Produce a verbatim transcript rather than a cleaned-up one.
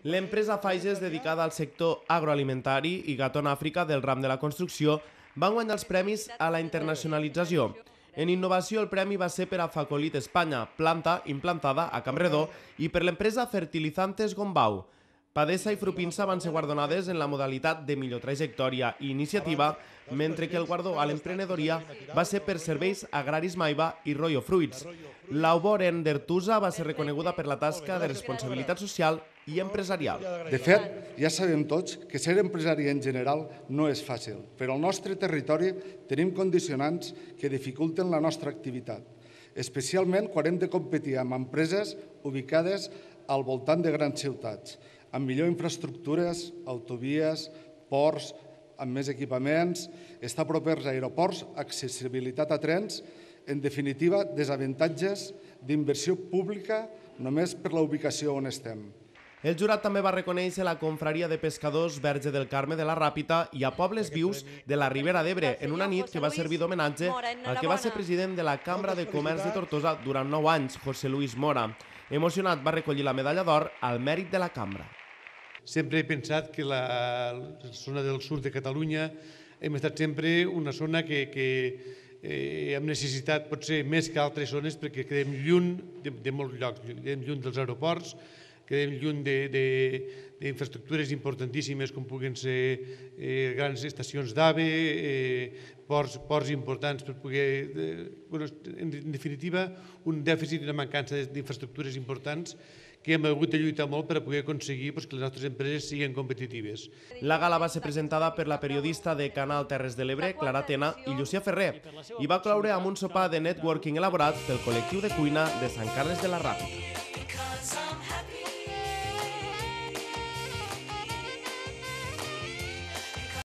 L'empresa Faiges, dedicada al sector agroalimentari, i Gaton Àfrica, del ram de la construcció, van guanyar els premis a la internacionalització. En innovació, el premi va ser per a Facolit Espanya, planta implantada a Campredó, i per l'empresa Fertilizantes Gombau. Padesa i Frupinsa van ser guardonades en la modalitat de millor trajectòria i iniciativa, mentre que el guardó a l'emprenedoria va ser per Serveis Agraris Maiva i Royo Fruits. L'Auboren d'Ertusa va ser reconeguda per la tasca de responsabilitat social i empresarial. De fet, ja sabem tots que ser empresari en general no és fàcil, però al nostre territori tenim condicionants que dificulten la nostra activitat, especialment quan hem de competir amb empreses ubicades al voltant de grans ciutats, amb millor infraestructures, autovies, ports, amb més equipaments, estar propers a aeroports, accessibilitat a trens, en definitiva, desavantatges d'inversió pública només per la ubicació on estem. El jurat també va reconèixer la confraria de pescadors Verge del Carme de la Ràpita i a Pobles Vius de la Ribera d'Ebre, en una nit que va servir d'homenatge al que va ser president de la Cambra de Comerç de Tortosa durant nou anys, José Luis Mora. Emocionat, va recollir la medalla d'or al mèrit de la Cambra. Sempre he pensat que la zona del sud de Catalunya hem estat sempre una zona que, que eh, hem necessitat potser més que altres zones perquè quedem lluny de, de molts llocs, quedem lluny dels aeroports, quedem lluny d'infraestructures importantíssimes com puguen ser eh, grans estacions d'AVE, eh, ports, ports importants per poder... Eh, bueno, en definitiva, un dèficit i una mancança d'infraestructures importants que hem hagut de lluitar molt per a poder aconseguir pues, que les nostres empreses siguin competitives. La gala va ser presentada per la periodista de Canal Terres de l'Ebre, Clara Tena, i Llucia Ferrer, i va cloure amb un sopar de networking elaborat pel col·lectiu de cuina de Sant Carles de la Ràpita.